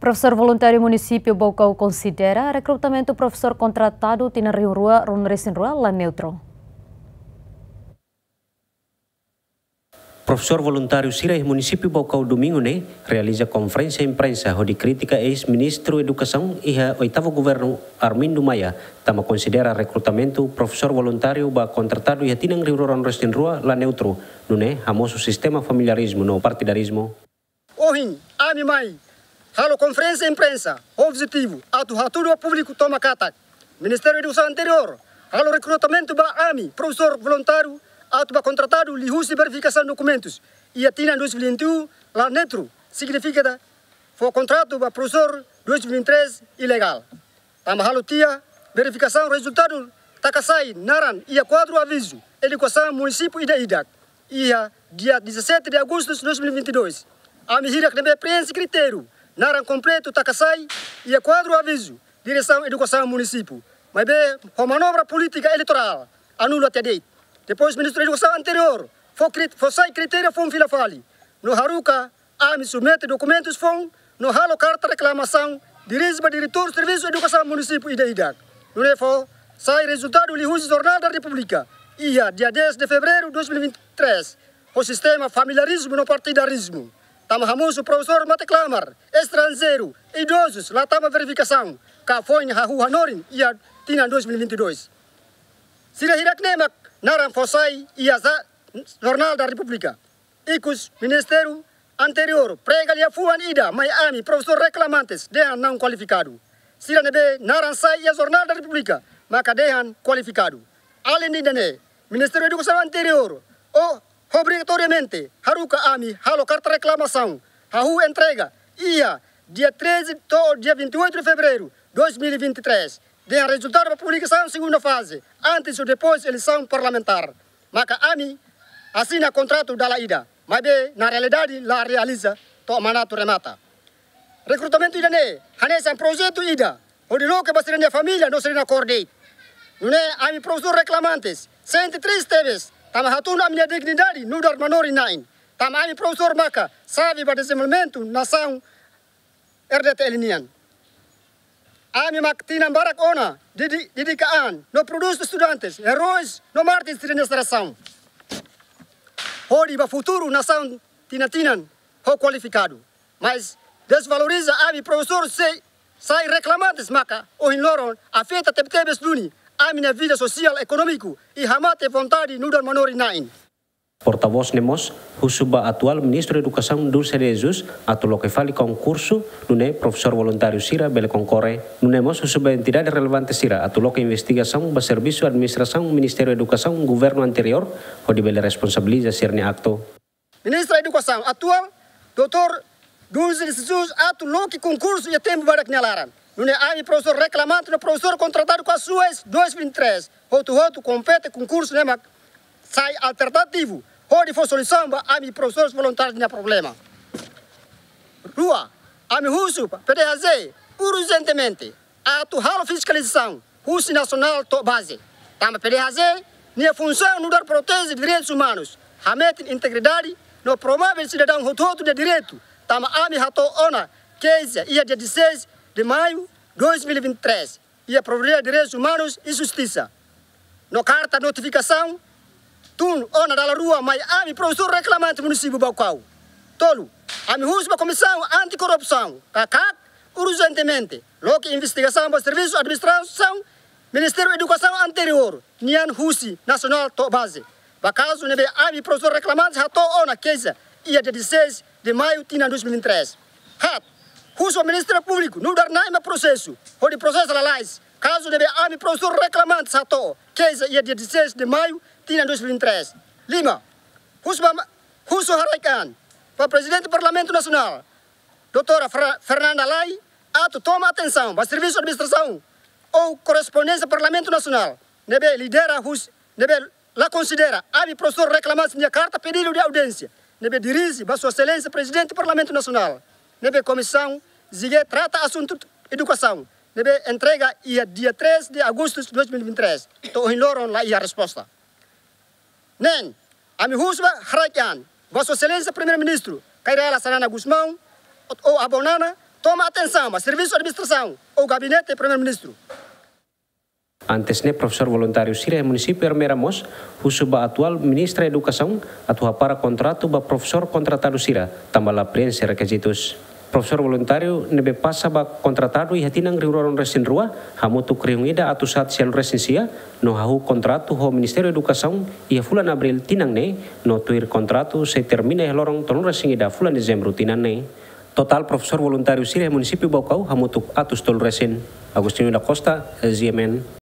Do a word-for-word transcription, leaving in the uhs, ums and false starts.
Profesór voluntáriu Munisípiu Baucau konsidera rekrutamentu profesór kontratadu tinan rihun rua ruanulu-resin-rua la neutru. Profesór voluntáriu sira iha Munisípiu Baucau Domingu ne'e realiza konferénsia imprensa hodi kritika eis-Ministru Edukasaun iha oitavu governu Armindo Maia, tanba konsidera rekrutamentu profesór voluntáriu ba kontratadu iha tinan rihun rua ruanulu-resin-rua la neutru, nune'e hamosu sistema familiarizmu no partidarizmu. Ohin, ami mai halo konferénsia imprensa ho objetivu atu hatudu ba públiku tomak katak Ministériu Edukasaun anteriór halo rekrutamentu ba ami profesór voluntáriu atu ba kontratadu liuhusi verifikasaun dokumentus iha tinan dois mil e vinte e um la neutru, signifika fó kontratu ba profesór dois mil e vinte e três ilegál. Tanba halo tiha verifikasaun, rezultadu taka sai naran iha kuadru avizu edukasaun munisípiu ida-idak iha dia dezassete de agosto de dois mil e vinte e dois. Ami hirak ne'ebé preenxe kritériu naran kompletu taka sai iha kuadru avizu diresaun edukasaun munisípiu, maibé ho manobra polítika eleitorál anula tiha de'it. Depois Ministru Edukasaun anteriór fó krit-, fó sai kritériu foun fila fali no haruka ami submete dokumentus foun no halo karta reklamasaun dirije ba diretór servisu edukasaun munisípiu ida-idak. Nune'e fó sai rezultadu liuhusi Jornál da Repúblika iha dia dez de fevereiro dois mil e vinte e três, ho sistema familiarizmu no partidarizmu. Tanba hamosu profesór mate-klamar estranjeiru, idozus la tama verifikasaun ka foin hahú hanorin iha tinan dois mil e vinte e dois. Sira hirak ne'e mak naran fó sai iha za-, Jornál da Repúblika. Ikus Ministériu anteriór prega liafuan ida mai ami profesór reklamantes dehan não kualifikadu. Sira ne'ebé naran sai iha Jornál da Repúblika maka dehan kualifikadu. Além de ne'e, Ministériu Edukasaun anteriór o obrigatoriamente haruka ami halo karta reklamasaun, hahú entrega iha dia treze to'o dia vinte e oito de fevereiro dois mil e vinte e três, dehan rezultadu ba publikasaun segunda faze, antes ou depois eleisaun parlamentár. Maka ami asina kontratu dala ida, maibé na realidade la realiza to'o mandatu remata. Rekrutamentu ida-ne'e hanesan projetu ida hodi loke ba sira-nia família no sira-nia kór de'it. Nune'e ami profesór reklamantes sente triste tebes, tanba hatún ami-nia dignidade nu'udar manorin-na'in. Tanba ami profesór maka xave ba dezenvolvimentu nasaun R D T L nian. Ami mak tinan barak ona dedi-, dedika an no prodús estudantes, eróis no mártires sira-nia jerasaun hodi ba futuru nasaun tinan-tinan ho kualifikadu. Mas dezvaloriza ami profesór sei sai reklamantes maka ohin loron afeta tebetebes duni ami-nia vida sosiál ekonómiku i hamate vontade nu'udar manorin-na'in. Portavós ne'e mós husu ba atuál Ministru Edukasaun Dulce de Jesus atu loke fali konkursu nune'e profesór voluntáriu sira bele konkorre. Nune'e mós husu ba entidade relevante sira atu loke investigasaun ba servisu administrasaun Ministériu Edukasaun governu anteriór hodi bele responsabiliza sira-nia aktu. Ministra Edukasaun atuál, doutór Dulce de Jesus, atu loke konkursu iha tempu badak nia laran. Nune'e ami profesór reklamante no profesór kontratadu kasuais dois mil e vinte e três, hotu-hotu kompete konkursu ne'e mak sai alternativu hodi fó solusaun ba ami profesór voluntáriu nia problema. Rua, ami husu ba P D H J urjentemente atu halo fiskalizasaun husi nasionál to'o baze. Tanba P D H J nia funsaun nu'udar proteje direitus umanus, hametin integridade no promove sidadaun hotu-hotu nia direitu. Tanba ami hato'o ona keixa iha dia dezasseis de maio dois mil e vinte e três iha Proveditóriu Direitus Umanus i Justisa no karta notifikasaun tun ona dala rua mai ami profesór reklamante munisípiu Baucau. Tolu, ami husu ba Komisaun Antikorrupsaun, KAKAK, urjentemente loke investigasaun ba servisu administrasaun Ministériu Edukasaun anteriór nian husi nasionál to'o baze, ba kazu ne'ebé ami profesór reklamante hato'o ona keixa iha dia dezasseis de maio tinan dois mil e vinte e três. Haat, husu ba Ministériu Públiku nu'udar na'in mak prosesu hodi prosesa lalais kazu ne'ebé ami profesór reklamante hato'o keixa iha dia dezasseis de maio tinan dois mil e vinte e três. Lima, husu ba ma-, husu haraik an ba Prezidente Parlamentu Nasionál, doutora Fer-, Fernanda Lay, atu toma atensaun ba servisu administrasaun ou korrespondénsia Parlamentu Nasionál ne'ebé lidera husi, ne'ebé la konsidera ami profesór reklamante nia karta pedidu de audiénsia ne'ebé dirije ba Sua Exelénsia Prezidente Parlamentu Nasionál, ne'ebé Komisaun G G trata asuntu edukasaun, ne'ebé entrega iha dia três de agosto de dois mil e vinte e três, to'o ohin loron la iha resposta. Neen, ami husu ba haraik an ba Sua Exelénsia Primeiru-Ministru Kay Rala Xanana Gusmão ou Avó Nana, Toma atensaun ba servisu administrasaun ou gabinete Primeiru-Ministru. Antes ne'e, profesór voluntáriu sira iha munisípiu Ermera mós husu ba atuál Ministra Edukasaun atu hapara kontratu ba profesór kontratadu sira, tanba la preenxe rekizitus. Profesór voluntáriu ne'ebé pasa ba kontratadu iha tinan rihun rua ruanulu resin rua, hamutuk rihun ida atus haat sianulu resin sia, no hahú kontratu ho Ministériu Edukasaun iha fulan Abríl tinan ne'e, no tuir kontratu sei termina iha loron tolunulu resin ida fulan Dezembru tinan ne'e. Totál profesór voluntáriu sira iha munisípiu Baucau hamutuk atus tolu resin. Agostinho da Costa, G M N.